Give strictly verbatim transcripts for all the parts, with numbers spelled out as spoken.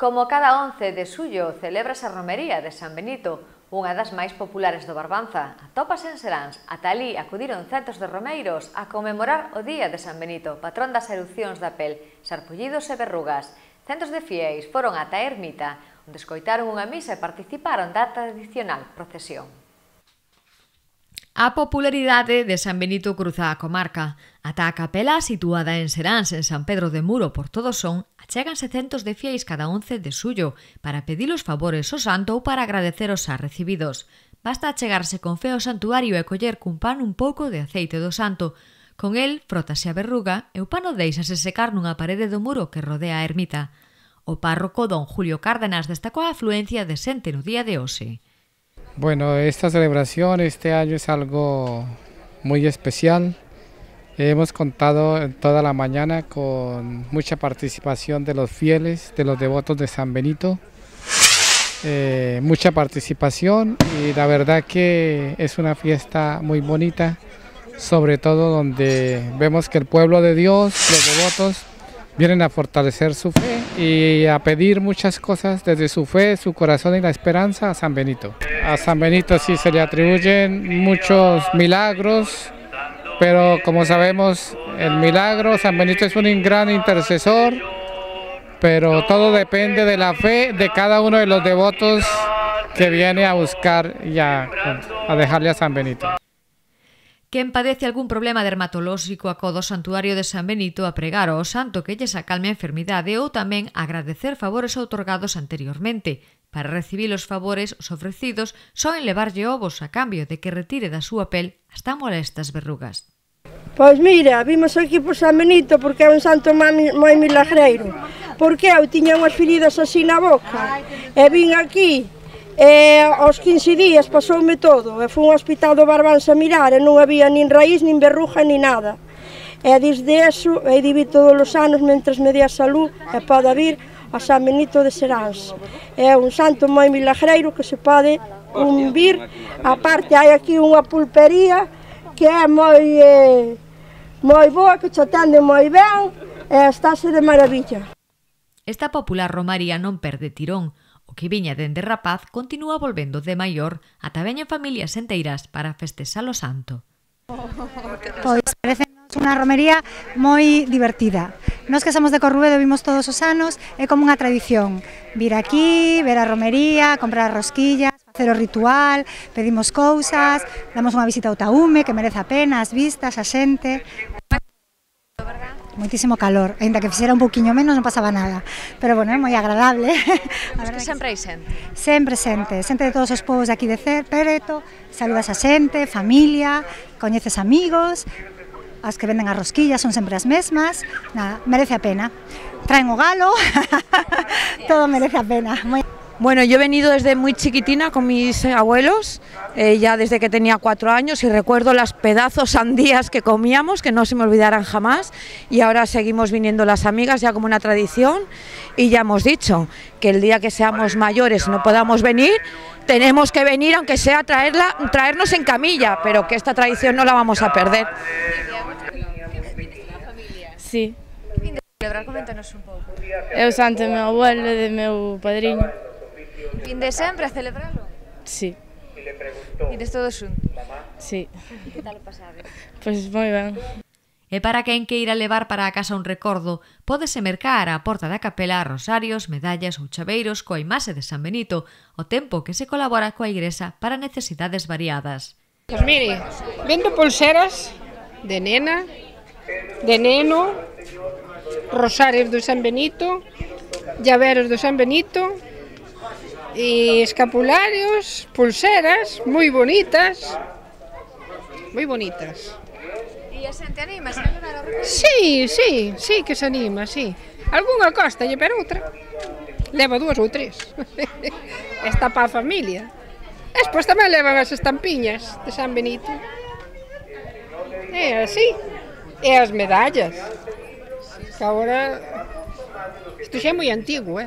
Como cada once de xullo celébrase a romería de San Benito, unha das máis populares do Barbanza. Atópase en Seráns. Ata alí acudiron centos de romeiros a conmemorar o Día de San Benito, patrón das erupcións da pel, sarpullidos e verrugas. Centos de fiéis foron ata a ermita, onde escoitaron unha misa e participaron da tradicional procesión. A popularidade de San Benito cruza a comarca. Ata a capela, situada en Seráns, en San Pedro de Muro, por todo son, achéganse centos de fiéis cada once de xullo para pedir os favores ao santo ou para agradecer os xa recibidos. Basta achegarse con fe ao santuario e coller cun pan un pouco de aceite do santo. Con el, frótase a verruga e o pano deixase secar nunha parede do muro que rodea a ermita. O párroco don Julio Cárdenas destacou a afluencia de xente no día de hoxe. Bueno, esta celebración este año es algo muy especial. Hemos contado toda la mañana con mucha participación de los fieles, de los devotos de San Benito. Eh, mucha participación y la verdad que es una fiesta muy bonita, sobre todo donde vemos que el pueblo de Dios, los devotos, vienen a fortalecer su fe y a pedir muchas cosas desde su fe, su corazón y la esperanza a San Benito. A San Benito sí se le atribuyen muchos milagros, pero como sabemos, el milagro, San Benito es un gran intercesor, pero todo depende de la fe de cada uno de los devotos que viene a buscar y a, a dejarle a San Benito. Quen padece algún problema dermatolóxico acude ao santuario de San Benito a pregar ao santo que lles acalme a enfermidade ou tamén agradecer favores outorgados anteriormente. Para recibir os favores, os ofrecidos soen levarlle ovos a cambio de que retire da súa pel as tan molestas verrugas. Pois mira, vimos aquí por San Benito porque é un santo moi milagreiro. Porque eu tiña unhas feridas así na boca e vin aquí. E aos quince días pasoume todo, e fui ao hospital do Barbanza a mirar e non había nin raíz, nin verruga, nin nada. E desde eso, e divi todos os anos, mentres me dé a salud, e poda vir a San Benito de Seráns. É un santo moi milagreiro que se pode un vir. A parte, hai aquí unha pulpería que é moi, eh, moi boa, que te atende moi ben, e estáse de maravilla. Esta popular romaría non perde tirón. O que viña dende rapaz continúa volvendo de maior ata veñen familias enteiras para festexar o santo. Pois parecenos unha romería moi divertida. Nós que somos de Corruedo vimos todos os anos, é como unha tradición. Vir aquí, ver a romería, comprar rosquillas, facer o ritual, pedimos cousas, damos unha visita ao Taúme, que merece a pena, as vistas, a xente. Moitísimo calor, ainda que fixera un pouquiño menos non pasaba nada, pero bueno, é moi agradable. A verdade que sempre hai xente. Sempre xente, xente de todos os povos de aquí de Pereto, saludas a xente, familia, coñeces amigos, as que venden as rosquillas son sempre as mesmas, nada, merece a pena. Traen o galo, todo merece a pena. Moi... Bueno, yo he venido desde muy chiquitina con mis abuelos, eh, ya desde que tenía cuatro años, y recuerdo las pedazos sandías que comíamos, que no se me olvidarán jamás, y ahora seguimos viniendo las amigas ya como una tradición, y ya hemos dicho que el día que seamos mayores no podamos venir, tenemos que venir aunque sea traerla, traernos en camilla, pero que esta tradición no la vamos a perder. Sí. Celebrar, coméntanos un pouco. É o santo do meu abuelo e do meu padriño. Vinde sempre a celebralo? Sí. Ides todos xuntos? Sí. Que tal o pasades? Pois moi ben. E para quen queira levar para a casa un recordo, pódese mercar á porta da capela rosarios, medallas ou chaveiros coa imaxe de San Benito, o tempo que se colabora coa igrexa para necesidades variadas. Pois mire, vendo pulseras de nena, de neno, rosarios do San Benito, llaveros do San Benito, e escapularios, pulseras moi bonitas, moi bonitas. E a xente anima, se levar a romería? Sí, sí, sí que se anima, sí. Algúnha costalle, pero outra leva dúas ou tres. Está para a familia. Despois tamén levan as estampiñas de San Benito. É así. E as medallas. Que agora isto xa é moi antigo, eh?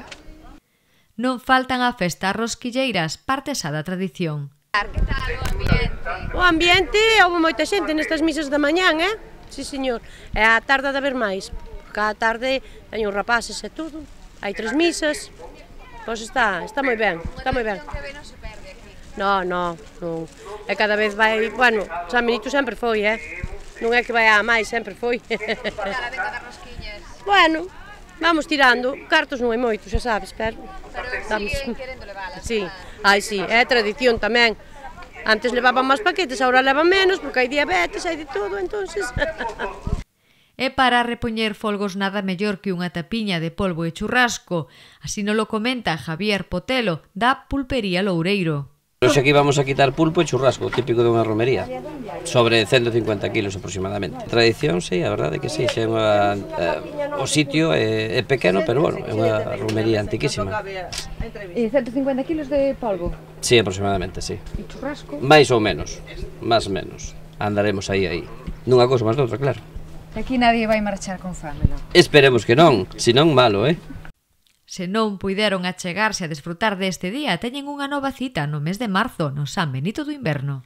Non faltan a festa rosquilleiras, parte xa da tradición. Que tal o ambiente? O ambiente, houve moita xente nestas misas da mañán, eh? Sí, señor. E a tarde de haber máis, porque a tarde teño rapaces e tudo. hai tres misas, pois está, está moi ben, está moi ben. Non, non, non, e cada vez vai, bueno, San Benito sempre foi, eh, non é que vai a máis, sempre foi. Bueno, vamos tirando, cartos non hai moito, xa sabes, pero... Pero sigue querendo leválas. Sí, ai, sí, é tradición tamén. Antes levaban máis paquetes, agora levan menos, porque hai diabetes, hai de todo, entonces... E para repoñer folgos nada mellor que unha tapiña de polvo e churrasco, así non lo comenta Javier Potelo, da Pulpería Loureiro. Hoxe aquí vamos a quitar pulpo e churrasco, típico dunha romería, sobre ciento cincuenta kilos aproximadamente. Tradición, sí, a verdade que sí, xa é unha, eh, o sitio é, é pequeno, pero bueno, é unha romería antiquísima. E ciento cincuenta kilos de polvo? Sí, aproximadamente, sí. E churrasco? Mais ou menos, máis menos, andaremos aí, aí. Nunha cousa máis doutra, claro. E aquí nadie vai marchar con fame, non? Esperemos que non, senón malo, eh? Se non puideron achegarse a desfrutar deste día, teñen unha nova cita no mes de marzo no San Benito do Inverno.